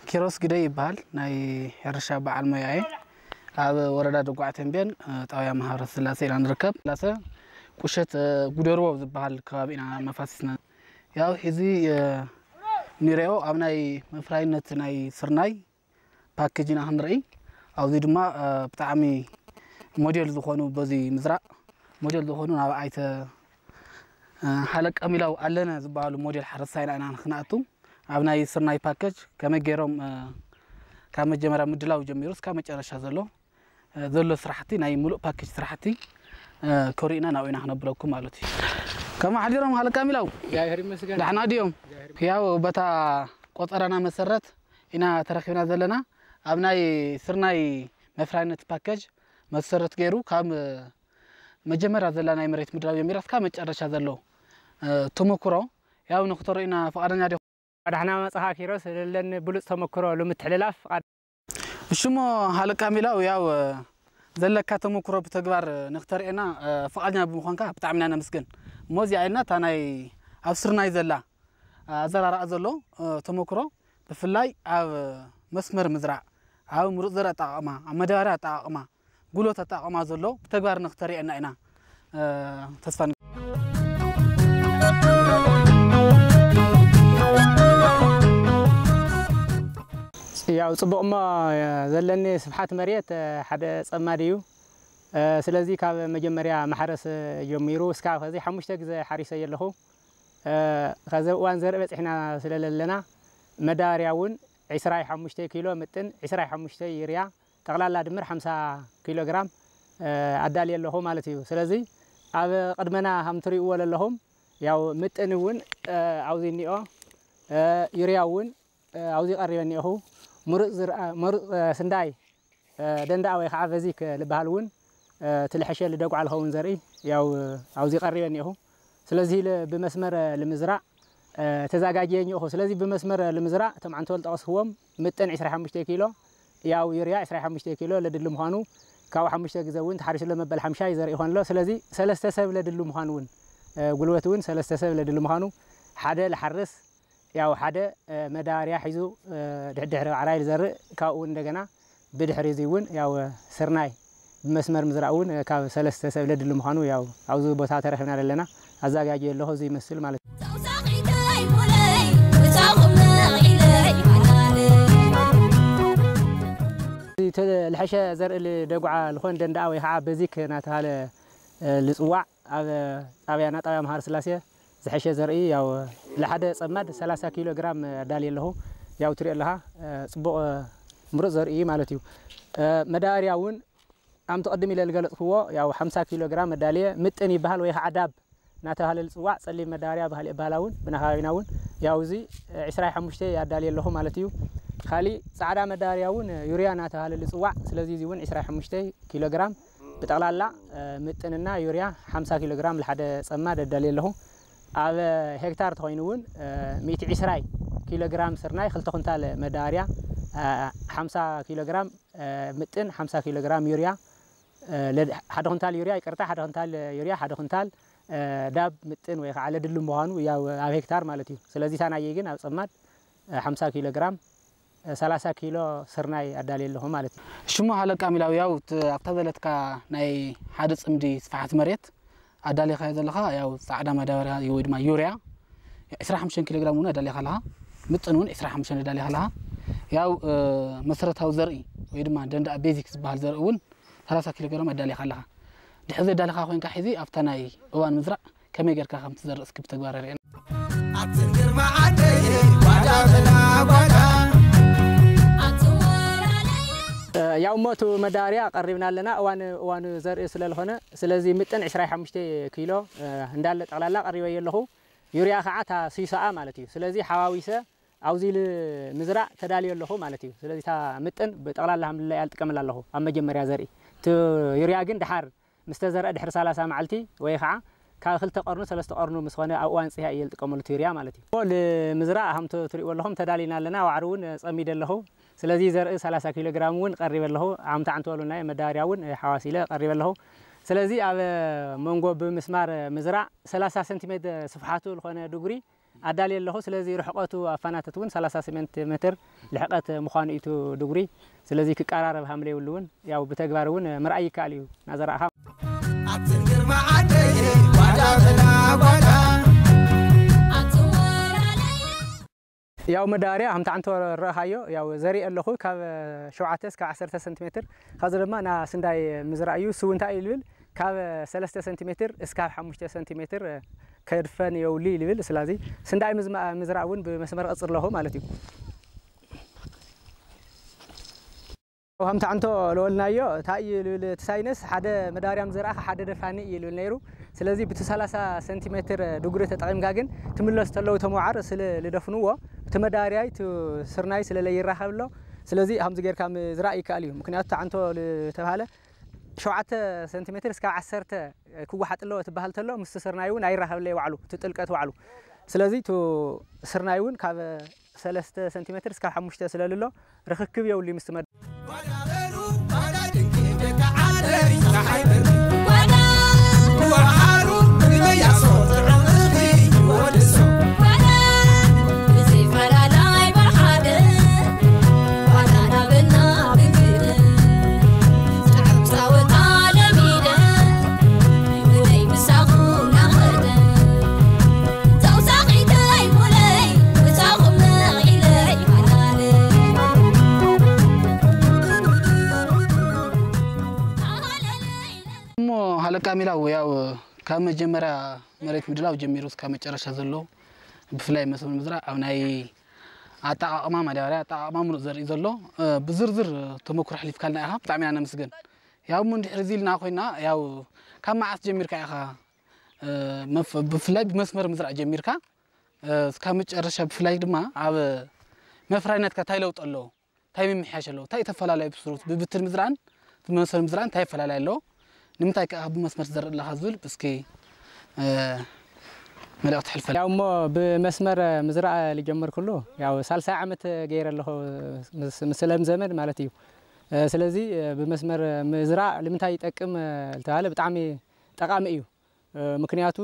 ኪሮስ ግደይ ይበሃል። ናይ ሕርሻ በዓል ሞያ እየ። ኣብ ወረዳ ደጉዓ ተምቤን፣ እ፣ ጣብያ ማህበረ ስላሴ ኢና ንርከብ። ስላሴ ቁሸት፣ እ፣ ጉደርዎ ዝበሃል ከባቢ ኢና መፋሲስና። ያው ሕዚ፣ እ፣ ንሪኦ ኣብ ናይ መፍራይነት ናይ ስርናይ ፓኬጅ ኢና ክንርኢ። ኣብዚ ድማ፣ እ፣ ብጣዕሚ ሞዴል ዝኾኑ በዚ ምዝራእ ሞዴል ዝኾኑ ናብ ኣይተ፣ እ፣ ሃለቃ ሚላው ኣለነ ዝበሃሉ ሞዴል ሓረስታይና ኢና ክንኣቱ። ኣብ ናይ ስርናይ ፓኬጅ ከመይ ገይሮም፣ እ፣ ካብ መጀመርያ ምድላው ጀሚሩ እስካብ መጨረሻ ዘሎ፣ እ፣ ዘሎ ስራሕቲ ናይ ሙሉእ ፓኬጅ ስራሕቲ፣ እ፣ ከሪኡና ናብኡ ኢና ክነብለኩም ማለት እዩ። ከመይ ሓዲሮም ሃለቃ ሚላው? እግዚኣብሔር ይመስገን። ደሕና ድዮም? እግዚኣብሔር ያው በታ ቆጸራና መሰረት ኢና ተረኺብና ዘለና። ኣብ ናይ ስርናይ መፍራይነት ፓኬጅ መሰረት ገይሩ ካብ መጀመርያ ዘላ ናይ መሬት ምድላው ጀሚራ እስካብ መጨረሻ ዘሎ፣ እ፣ ተመኩሮ ያው ንክተርእዩና ፍቓደኛ ዲኹም? ዳሕና መጻኻ ኪሮስ፣ ዘለኒ ብሉጽ ተመኩሮ ንምትሕልላፍ ፍቓድ። እሺ እሞ ሃለቃ ሚላው ያው፣ እ፣ ዘለካ ተመኩሮ ብተግባር ንክተርእየና፣ እ፣ ፍቓደኛ ብምዃንካ ብጣዕሚ ኢና ነመስግን። እሞ እዚኣ ኢልና እታ ናይ ኣብ ስርናይ ዘላ ኣዘራርኣ ዘሎ፣ እ፣ ተመክሮ ብፍላይ ኣብ መስመር ምዝራእ፣ ኣብ ምሩፅ ዘርኢ ኣጠቓቕማ፣ ኣብ መዳበርያ ኣጠቓቕማ፣ ጉልበት ኣጠቓቕማ ዘሎ ብተግባር ንክተርእየና ኢና፣ እ፣ ተስፋ ንገብር። ያው ጽቡቕ እሞ፣ እ፣ ዘለኒ ስፍሓት መሬት፣ እ፣ ሓደ ጸማድ እዩ። እ፣ ስለዚ ካብ መጀመርያ ማሕረስ ጀሚሩ እስካብ ኸዚ ሓሙሽተ ግዜ ሓሪሰ ኣለኹ። እ፣ ኸዚ እዋን ዘርኢ በጺሕና ስለ ዘለና መዳበርያ እውን ዕስራ ሓሙሽተ ኪሎ ምጥን ዕስራ ሓሙሽተ ዩርያ ጠቕላላ ድምር ሓምሳ ኪሎ ግራም፣ እ፣ ኣዳልየ ኣለኹ ማለት እዩ። ስለዚ ኣብ ቅድመና ከም ትሪእዎ ዘለኹም ያው ምጥን እውን፣ እ፣ ኣብዚ እኒኦ፣ እ፣ ዩርያ እውን፣ እ፣ ኣብዚ ቀሪበ እኒኦኹ። ምሩፅ ዝርኣ-፣ ምሩፅ፣ እ፣ ስንዳይ እ፣ ደንዳኣ ወይ ከዓ በዚክ ልበሃል እውን፣ እ፣ እቲ ልሐሸ ልደጉዓ ልኸውን ዘርኢ ያው፣ እ፣ ኣብዚ ቀሪበ እኒኦኹ። ስለዚህ ል-፣ ብመስመር፣ እ፣ ልምዝራእ፣ እ፣ ተዛጋጅየ እኒኦኹ። ስለዚህ ብመስመር፣ እ፣ ልምዝራእ እቶም ዓንተወል ጠቐስክዎም ምጥን ዕስራ ሓሙሽተ ኪሎ፣ ያው ዩርያ ዕስራ ሓሙሽተ ኪሎ ለድሊ ምዃኑ ካብኡ ሓሙሽተ ግዜ እውን ተሓሪሱ ኣሎ መበል ሓምሻይ ዘርኢ ይኾን ኣሎ። ስለዚህ ሰለስተ ሰብ ለድሊ ምዃኑ እውን፣ እ፣ ጉልበት እውን ሰለስተ ሰብ ለድሊ ምዃኑ ሓደ ልሓርስ ያው ሓደ፣ እ፣ መዳበርያ ሒዙ፣ እ፣ ድሕድሕሪ ዓራይ ዝዘርእ ካብኡ እንደገና ብድሕሪ እዚ እውን ያው ስርናይ ብመስመር ምዝራእ እውን ካብ ሰለስተ ሰብ ለድሊ ምዃኑ ያው ኣብዚ ቦታ ተረኺብና ዘለና ኣዘጋጅየ ኣለኹ እዚ ይመስል ማለት እዩ። ተውሳኺተይ ሙለይ፣ ምሳኹም ንዒለይ ሓላለ። እቲ ልሐሸ ዘርኢ ልደጉዓ ልኾን ደንዳኣ ወይ ከዓ በዚክ እናተባሃለ፣ እ፣ ልፅዋዕ ኣብ ጣብያና፣ ጣብያ መሃር ስላሴ ዝሐሸ ዘርኢ ያው ለሓደ ጸማድ ሰላሳ ኪሎ ግራም ኣዳልየ ኣለኹ። ያው ትሪኦ ኣለኻ፣ እ፣ ጽቡቕ፣ እ፣ ምሩጽ ዘርኢ ማለት እዩ። እ፣ መዳበርያ እውን ኣምቲ ቅድም ኢለ ዝገለጽክዎ ያው ሓምሳ ኪሎ ግራም ኣዳልየ ምጥን ይበሃል ወይ ከዓ ዳብ እናተባሃለ ዝጽዋዕ ጸሊም መዳበርያ ባህል ይበሃል እውን ብናኻቢና እውን ያው እዚ፣ እ፣ ዕስራ ሓሙሽተ ኣዳልየ ኣለኹ ማለት እዩ። ካሊእ ጻዕዳ መዳበርያ እውን ዩርያ እናተባሃለ ዝጽዋዕ፣ ስለዚ እዚ እውን ዕስራ ሓሙሽተ ኪሎ ግራም ብጠቕላላ፣ እ፣ ምጥንና ዩርያ ሓምሳ ኪሎ ግራም ለሓደ ጸማድ ኣዳልየ ኣለኹ። ኣብ ሄክታር ተኾይኑ እውን፣ እ፣ ሚእቲ ዕስራ ኪሎ ግራም ስርናይ ክልተ ኩንታል መዳበርያ፣ እ፣ ሓምሳ ኪሎ ግራም፣ እ፣ ምጥን ሓምሳ ኪሎ ግራም ዩርያ፣ እ፣ ለድ-፣ ሓደ ኩንታል ዩርያ፣ ይቅርታ፣ ሓደ ኩንታል ዩርያ፣ ሓደ ኩንታል፣ እ፣ ዳብ ምጥን ወይ ከዓ ለድሉ ምዃኑ ያው ኣብ ሄክታር ማለት እዩ። ስለዚ እታ ናየይ ግን ኣብ ጸማድ፣ እ፣ ሓምሳ ኪሎ ግራም ሰላሳ ኪሎ ስርናይ ኣዳልየ ኣለኹ ማለት እዩ። ሽሙ ሃለቃ ሚላው ያው ት-፣ ኣብታ ዘለትካ ናይ ሓደ ጽምዲ ስፍሓት መሬት ኣዳሊኻዮ ዘለኻ ያው ጻዕዳ ማዳበርያ ወይ ድማ ዩርያ ዕስራ ሓሙሽተ ኪሎ ግራም እውን ኣዳሊኻ ኣለኻ። ምጥን እውን ዕስራ ሓሙሽተ ኣዳሊኻ ኣለኻ። ያው፣ እ፣ መሰረታዊ ዘርኢ ወይ ድማ ደንዳኣ ቤዚክ ዝበሃል ዘርኢ እውን ሰላሳ ኪሎ ግራም ኣዳሊኻ ኣለኻ። ድሕሪ ዘዳለኻ ኮይንካ ሕዚ ኣብታ ናይ እዋን ምዝራእ ከመይ ጌርካ ከም ትዘርእ እስኪ ብተግባር ኣርእየና። ኣትን ግርማ ዓደይ ጓዳ ተላ ጓዳ። ኣትወራለይ። እ፣ ያው እሞ እቲ መዳበርያ ቀሪብና ኣለና። እዋን፣ እዋኑ ዘርኢ ስለ ዝኾነ፣ ስለዚ ምጥን ዕስራ ሓሙሽተ ኪሎ፣ እ፣ እንዳለ ጠቕላላ ቀሪበዮ ኣለኹ። ዩርያ ከዓ እታ ስይሶኣ ማለት እዩ። ስለዚ ሓዋዊሰ ኣብዚ ኢሉ ምዝራእ ተዳልዮ ኣለኹ ማለት እዩ። ስለዚ እታ ምጥን ብጠቕላላ ሃምልላ እያ ዝጥቀመላ ኣለኹ ኣብ መጀመርያ ዘርኢ። እቲ ዩርያ ግን ደሓር ምስ ተዘርአ ድሕሪ ሰላሳ መዓልቲ ወይ ኸዓ ካብ ክልተ ቀርኑ ሰለስተ ቀርኑ ምስ ኾነ ኣብ እዋን ጽህያ እየ ዝጥቀመሉ እቲ ዩርያ ማለት እዩ። ንምዝራእ ሃምቶ ትሪእዎ ኣለኹም ተዳሊና ኣለና። ዋዕሪ እውን ጸሚደ ኣለኹ። ስለዚ ዘርኢ ሰላሳ ኪሎ ግራም እውን ቀሪበ ኣለኹ። ሃምታ ዓንቶ በሉና እየ መዳበርያ እውን ሓዋሲለ ቀሪበ ኣለኹ። ስለዚ ኣብ መንጎ ብምስማር ምዝራእ ሰላሳ ሰንቲሜትር ስፍሓቱ ዝኾነ ድጉሪ ኣዳልየ ኣለኹ። ስለዚ ርሕቐቱ ኣፋናተት እውን ሰላሳ ሴንቲሜትር ልሕቐት ምዃኑ እዩ እቲ ድጉሪ። ስለዚ ክቀራረብ ሃምለ ይብሉ እውን ያው ብተግባር እውን ምርኣይ ይከኣል እዩ። ናዘራእኻ ኣብትን ግርማ ዓደይ ጓዳ በላ ጓዳ። ያው መዳበርያ ከምቲ ዓንቶ ረእኻዮ ያው ዘርኢ ኣለኹ ካብ ሸውዓተ እስካብ ዓሰርተ ሴንቲሜትር። ካብዚ ድማ ና ስንዳይ ምዝራእ እዩ። እሱ እንታይ እዩ ልብል ካብ ሰለስተ ሴንቲሜትር እስካብ ሓሙሽተ ሴንቲሜትር ከድፈን የውሊ ይልብል። ስለዚ ስንዳይ ምዝማ-፣ ምዝራእ እውን ብመስመር ቀጽር ኣለኹ ማለት እዩ። ከምቲ ዓንቶ ለወልናዮ እንታይ እዩ ልብል እቲ ሳይነስ ሓደ መዳበርያ ምዝራእኻ ሓደ ደፋኒ እዩ ልብል ነይሩ። ስለዚ ብቲ ሰላሳ ሴንቲሜትር ድጉሪ ተጠቒምካ ግን ትምለስ ተለዉ ተመዋዓር ስለ ልደፍንዎ እቲ መዳበርያይ እቲ ስርናይ ስለ ለይራኸብ ኣሎ። ስለዚ ከምዚ ጌርካ ምዝራእ ይከኣል እዩ። ምክንያቱ እቲ ዓንቶ ዝተባሃለ ሸውዓተ ሴንቲሜትር እስካብ ዓሰርተ ክወሓጥ ኣለዎ ትበሃል ተሎ ምስ ስርናይ እውን ኣይራኸብለይ ዋዕሉ እቲ ጥልቀት ዋዕሉ። ስለዚ እቲ ስርናይ እውን ካብ ሰለስተ ሴንቲሜትር እስካብ ሓሙሽተ ስለ ልሎ ርኽክብ የብሉ ምስ መድ እሞ ሃለቃ ሚላው ያው ካብ መጀመርያ መሬት ምድላው ጀሚሩ እስካብ መጨረሻ ዘሎ ብፍላይ መስኖ ምዝራእ ኣብ ናይ ኣጠቓቕማ ማዳበርያ ኣጠቓቕማ ምሩፅ ዘርኢ ዘሎ ብዝርዝር ተመክሮ ኣሕሊፍካልና ኢኻ። ብጣዕሚ ኢና ነመስግን። ያው እሞ እንድሕር እዚ ኢልና ኮይና ያው ካብ መዓስ ጀሚርካ ኢኻ ብፍላይ ብመስመር ምዝራእ ጀሚርካ እስካብ መጨረሻ ብፍላይ ድማ ኣብ መፍራይነትካ እንታይ ለውጢ ኣለዎ? እንታይ ምምሕያሽ ኣለዎ? እንታይ ተፈላለዩ ብስሩት ብብትን ምዝራእን ብመስመር ምዝራእን እንታይ ይፈላለዩ ኣለዎ? ንምንታይ ከኣ ብመስመር ትዘርእ ኣለኻ ዝብል እስኪ መልእኽቲ ሕልፈል። ያው እሞ ብመስመር ምዝራእ ልጀመርኩሉ ያው ሳልሳይ ዓመት ገይረ ኣለኹ ምስ ለምዘመ ማለት እዩ። ስለዚ ብመስመር ምዝራእ ንምንታይ ይጠቅም ልተባለ ብጣዕሚ ጠቓሚ እዩ። ምክንያቱ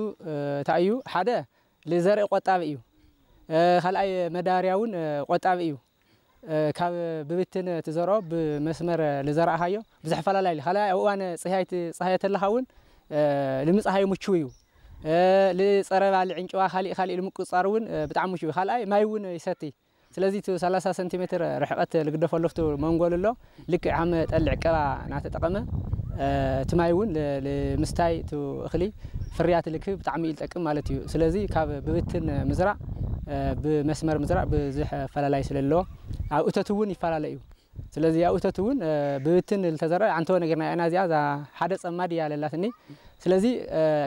እንታይ እዩ ሓደ ልዘርኢ ቆጣቢ እዩ። ካልኣይ መዳበርያ እውን ቆጣቢ እዩ። ካብ ብብትን ትዘርኦ ብመስመር ልዘራእኻዮ ብዙሕ ፈላላይ እዩ። ካልኣይ ኣብ እዋን ፅህያይ ትፅሃዮ ተለኻ እውን ልምፅሃይ ምችው እዩ። ልፀረ ባልዕ ዕንጭዋ ካሊእ ካሊእ ልምቁፃር እውን ብጣዕሚ ምችው እዩ። ካልኣይ ማይ እውን ይሰቲ። ስለዚ እቲ ሰላሳ ሴንቲሜትር ርሕቀት ልግደፈሉ ኣብቲ መንጎ ልሎ ልክዕ ሃም ጠሊ ዕቀባ እናተጠቐመ እቲ ማይ እውን ል-፣ ልምስታይ እቲ እኽሊ ፍርያት ልክብ ብጣዕሚ እዩ ልጠቅም ማለት እዩ። ስለዚ ካብ ብብትን ምዝራእ ብመስመር ምዝራእ ብዙሕ ፈላላይ ስለ ኣለዎ ኣብ እቶት እውን ይፈላለ እዩ። ስለዚ ኣብ እቶት እውን ብብትን ልተዘርአ ዓንተወ ነጊርና ኢና እዚኣ እዛ ሓደ ጸማድ እያ ለላትኒ። ስለዚ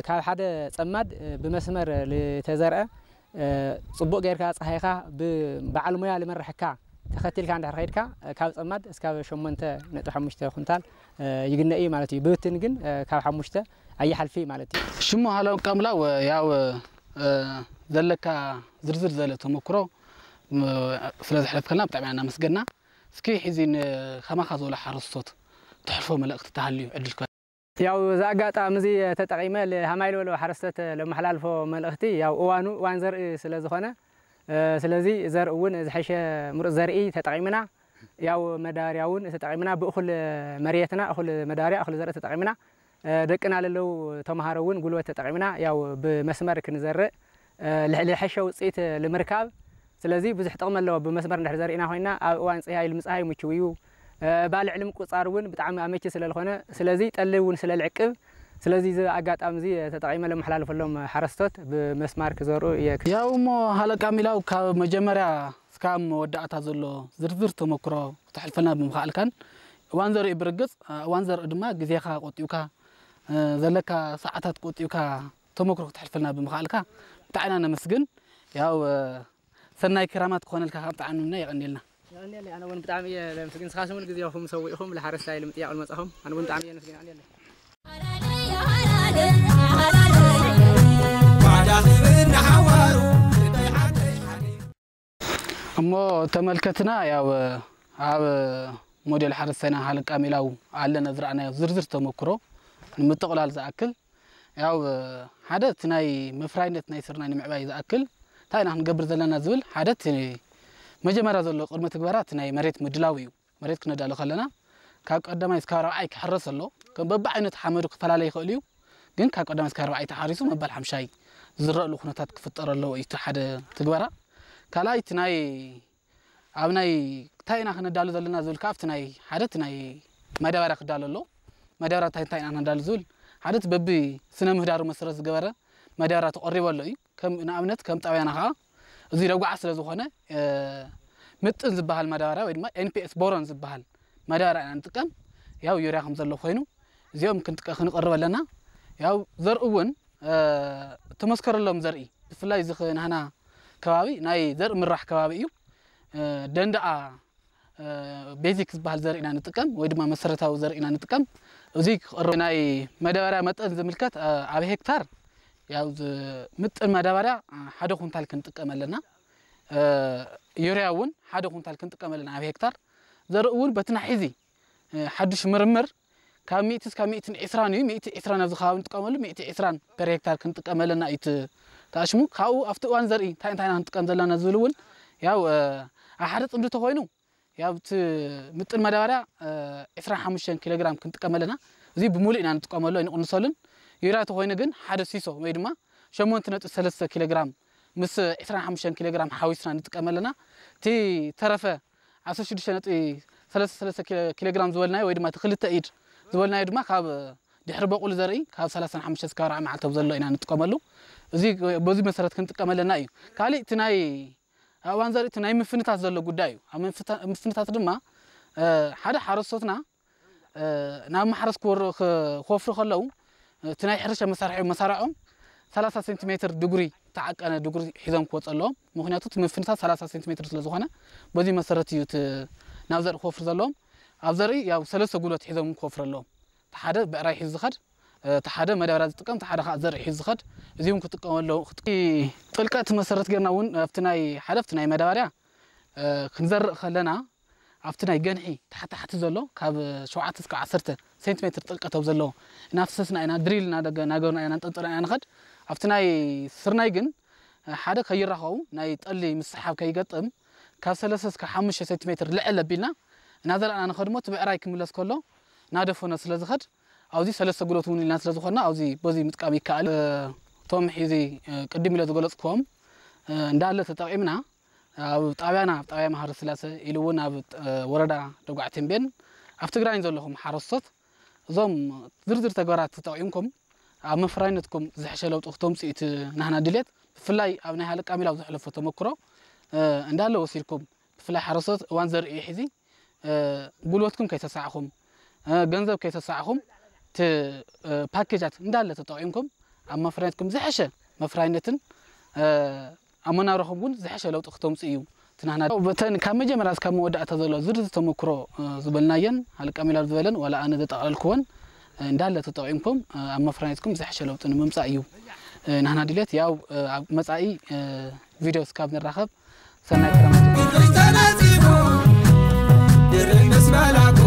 ካብ ሓደ ጸማድ ብመስመር ልተዘርአ ጽቡቕ ጌርካ ጸሃይኻ ብበዓል ሞያ ልመርሐካ ተኸቲልካ እንድሕር ከይድካ ካብ ጸማድ እስካብ ሸሞንተ ነጥቢ ሓሙሽተ ኩንታል ይግነ እዩ ማለት እዩ። ብብትን ግን ካብ ሓሙሽተ ኣይሓልፊ ማለት እዩ። ሽሙ ሃለው ቀምላው ያው ዘለካ ዝርዝር ዘለ ተመክሮ ስለ ዘሕለፍከልና ብጣዕሚ ኢና እናመስገና። እስኪ ሕዚ ንኸማኻ ዝበሉ ሓረስቶት ተሕልፎ መልእኽቲ ተሃልዩ ዕድል ክህበካ። ያው እዚ ኣጋጣሚ እዚ ተጠቒመ ል-፣ ሃማይ ዝበሉ ሓረስቶት ለመሓላልፎ መልእኽቲ ያው እዋኑ እዋን ዘርኢ ስለ ዝኾነ፣ ስለዚ ዘርኢ እውን ዝሐሸ ምሩፅ ዘርኢ ተጠቒምና ያው መዳበርያ እውን ተጠቒምና ብእኹል መሬትና እኹል መዳበርያ እኹል ዘርኢ ተጠቒምና ደቅና ለለው ተምሃሮ እውን ጉልበት ተጠቒምና ያው ብመስመር ክንዘርእ ልሕ-፣ ልሐሸ ውፅኢት ልምርካብ። ስለዚ ብዙሕ ጥቕሚ ኣለዎ። ብመስመር እንድሕር ዘርኢና ኮይና ኣብ እዋን ፅህያይ ልምፅሃይ ምችው እዩ። ባልዕ ልምቁፃር እውን ብጣዕሚ ኣመቺ ስለ ዝኾነ፣ ስለዚ ጠሊ እውን ስለ ልዕቅብ፣ ስለዚ እዚ ኣጋጣሚ እዚ ተጠቒመ ለመሓላልፈሎም ሓረስቶት ብመስማር ክዘርኡ እየ። ያው እሞ ሃለቃ ሚላው ካብ መጀመርያ እስካብ መወዳእታ ዘሎ ዝርዝር ተመክሮ ክተሕልፈልና ብምኽኣልካን እዋን ዘርኢ ብርግፅ እዋን ዘርኢ ድማ ግዜኻ ቆጢብካ ዘለካ ሰዓታት ቆጢብካ ተመክሮ ክተሕልፈልና ብምኽኣልካ ብጣዕና ነመስግን። ያው ሰናይ ክራማት ክኾነልካ ካብ ብጣዕሚ እና የቐንየልና። የቐንየለይ፣ ኣነ እውን ብጣዕሚ እየ ለምስግን። ንስኻትኩም እውን ግዜኹም ሰዊእኹም ለሓረስታይ ልምጥያቕ ልመጻኹም ኣነ እውን ብጣዕሚ እየ ለምስግን። የቐንየለይ። እሞ ተመልከትና ያው ኣብ ሞዴል ሓረስታይና ሃለቃ ሜላው ኣለና ዝረኣናዮ ዝርዝር ተመክሮ ንምጥቕላል ዝኣክል ያው ሓደ እቲ ናይ መፍራይነት ናይ ስርናይ ንምዕባይ ዝኣክል እንታይ ኢና ክንገብር ዘለና ዝብል ሓደ እቲ መጀመርያ ዘሎ ቅድመ ትግበራ እቲ ናይ መሬት ምድላው እዩ። መሬት ክነዳሉ ከለና ካብ ቀዳማይ እስካብ ራብዓይ ክሕረስ ኣሎ። ከም በብዓይነት ሓመዱ ክፈላለ ይኽእል እዩ። ግን ካብ ቀዳማይ እስካብ ራብዓይ ተሓሪሱ መባል ሓምሻይ ዝረእሉ ኩነታት ክፍጠር ኣለዎ እዩ እቲ ሓደ ትግበራ። ካልኣይ እቲ ናይ ኣብ ናይ እንታይ ኢና ክነዳሉ ዘለና ዝብል ከዓ ኣብቲ ናይ ሓደ እቲ ናይ ማዳበርያ ክዳሎ ኣሎ። ማዳበርያ እንታይ እንታይ ኢና ክነዳሉ ዝብል ሓደ እቲ በቢ ስነ ምህዳሩ መሰረት ዝገበረ ማዳበርያ ተቐሪቡ ኣሎ እዩ። ከም ንኣብነት ከም ጣብያና ከዓ እዚ ደጉዓ ስለ ዝኾነ ምጥን ዝበሃል ማዳበርያ ወይ ድማ ኤንፒኤስ ቦሮን ዝበሃል ማዳበርያ ኢና ንጥቀም። ያው ዩርያ ከም ዘሎ ኮይኑ እዚኦም ክንጥቀ ክንቐርብ ኣለና። ያው ዘርኢ እውን ተመስከረሎም ዘርኢ ብፍላይ እዚ ናህና ከባቢ ናይ ዘርኢ ምራሕ ከባቢ እዩ። ደንዳኣ ቤዚክ ዝበሃል ዘርኢ ኢና ንጥቀም ወይ ድማ መሰረታዊ ዘርኢ ኢና ንጥቀም። እዚ ክቕርብ ናይ መዳበርያ መጠን ዝምልከት ኣብ ሄክታር ያው ምጥን ማዳበርያ ሓደ ኩንታል ክንጥቀም ኣለና። ዩርያ እውን ሓደ ኩንታል ክንጥቀም ኣለና ኣብ ሄክታር። ዘርኢ እውን በቲ ናይ ሕዚ ሓዱሽ ምርምር ካብ ሚእቲ እስካብ ሚእትን ዕስራን እዩ። ሚእቲ ዕስራን ኣብዚ ከባቢ ንጥቀመሉ፣ ሚእቲ ዕስራን ፐር ሄክታር ክንጥቀም ኣለና እዩ እቲ ተኣሽሙ። ካብኡ ኣብቲ እዋን ዘርኢ እንታይ እንታይ ኢና ክንጥቀም ዘለና ዝብል እውን ያው ኣብ ሓደ ፅምዲ ተኮይኑ ያው እቲ ምጥን ማዳበርያ ዕስራን ሓሙሽተን ኪሎ ግራም ክንጥቀም ኣለና። እዚ ብምሉእ ኢና ንጥቀመሉ ኣይንቕንሰሉን። ዩርያ ተኮይኑ ግን ሓደ ሲሶ ወይ ድማ ሸሞንተ ነጥቢ ሰለስተ ኪሎ ግራም ምስ ዕስራን ሓሙሽተን ኪሎ ግራም ሓዊስና ንጥቀም ኣለና። እቲ ተረፈ ዓሰርተ ሽዱሽተ ነጥቢ ሰለስተ ሰለስተ ኪሎ ግራም ዝበልናዮ ወይ ድማ እቲ ክልተ ኢድ ዝበልናዮ ድማ ካብ ድሕሪ በቑሉ ዘርኢ ካብ ሰላሳን ሓሙሽተ እስካብ ኣርባዓ መዓልቲ ኣብ ዘሎ ኢና ንጥቀመሉ። እዚ በዚ መሰረት ክንጥቀም ኣለና እዩ። ካሊእ እቲ ናይ ኣብ እዋን ዘርኢ እቲ ናይ ምፍንታት ዘሎ ጉዳይ እዩ። ኣብ ምፍታ- ምፍንታት ድማ ሓደ ሓረስቶትና ናብ ማሕረስ ክወር- ክወፍሩ ከለዉ እቲ ናይ ሕርሻ መሳርሒ መሳርዖም ሰላሳ ሴንቲሜትር ድጉሪ ተዓቀነ ድጉሪ ሒዞም ክወፁ ኣለዎም። ምክንያቱ እቲ ምፍንታት ሰላሳ ሴንቲሜትር ስለ ዝኾነ በዚ መሰረት እዩ እቲ ናብ ዘርኢ ክወፍር ዘለዎም። ኣብ ዘርኢ ያው ሰለስተ ጉልበት ሒዞም ክወፍሩ ኣለዎም። እቲ ሓደ ብዕራይ ሒዙ ዝኸድ፣ እቲ ሓደ መዳበርያ ዝጥቀም፣ እቲ ሓደ ከዓ ዘርኢ ሒዙ ዝኸድ። እዚኦም ክጥቀሙ ኣለዉ። ጥልቀት መሰረት ጌርና እውን ኣብቲ ናይ ሓደ ኣብቲ ናይ መዳበርያ ክንዘርእ ከለና ኣብቲ ናይ ገንሒ ታሕቲ ታሕቲ ዘሎ ካብ ሸውዓተ እስካብ ዓሰርተ ሴንቲሜትር ጥልቀት ኣብ ዘለዎ እናፍሰስና ኢና ድሪል እናገርና ኢና እንጠንጥና ኢና ንኸድ። ኣብቲ ናይ ስርናይ ግን ሓደ ከይራኸቡ ናይ ጠሊ ምስሓብ ከይገጥም ካብ ሰለስተ እስካብ ሓሙሽተ ሴንቲሜትር ልዕል ኣቢልና እናዘርኣና ንኸድ እሞ እቲ ብዕራይ ክምለስ ከሎ እናደፈኖ ስለ ዝኸድ ኣብዚ ሰለስተ ጉልበት እውን ኢልና ስለ ዝኾንና ኣብዚ በዚ ምጥቃም ይከኣል። እቶም ሕዚ ቅድም ኢለ ዝገለፅክዎም እንዳለ ተጠቒምና ኣብ ጣብያና ኣብ ጣብያ ማህበረ ስላሴ ኢሉ እውን ኣብ ወረዳ ደጉዓ ተምቤን ኣብ ትግራይን ዘለኹም ሓረስቶት እዞም ዝርዝር ተግባራት ተጠቒምኩም ኣብ መፍራይነትኩም ዝሕሸ ለውጢ ክተምፅኡ እቲ ናህና ድሌት ብፍላይ ኣብ ናይ ሃለቃ ሚላው ዝሕለፎ ተመክሮ እንዳለ ወሲድኩም ብፍላይ ሓረስቶት እዋን ዘርኢ ሕዚ ጉልበትኩም ከይተሳዕኹም ገንዘብ ከይተሳዕኹም እቲ ፓኬጃት እንዳለ ተጠቒምኩም ኣብ መፍራይነትኩም ዝሐሸ መፍራይነትን ኣብ መናብረኹም እውን ዝሐሸ ለውጢ ክተምፁ እዩ ትናህና በተን ካብ መጀመርያ እስካብ መወዳእታ ዘሎ ዝርዝር ተመክሮ ዝበልናየን ሃለቃ ሚላው ዝበለን ዋላ ኣነ ዘጠቓለልክወን እንዳለ ተጠቒምኩም ኣብ መፍራይነትኩም ዝሐሸ ለውጢ ንምምፃእ እዩ ናህና ድሌት ያው ኣብ መፃኢ ቪድዮ እስካብ ንራኸብ ሰናይ ክረምቲ። ብፍቕሪ ተነጺፉ ድርብ ምስ መላኩ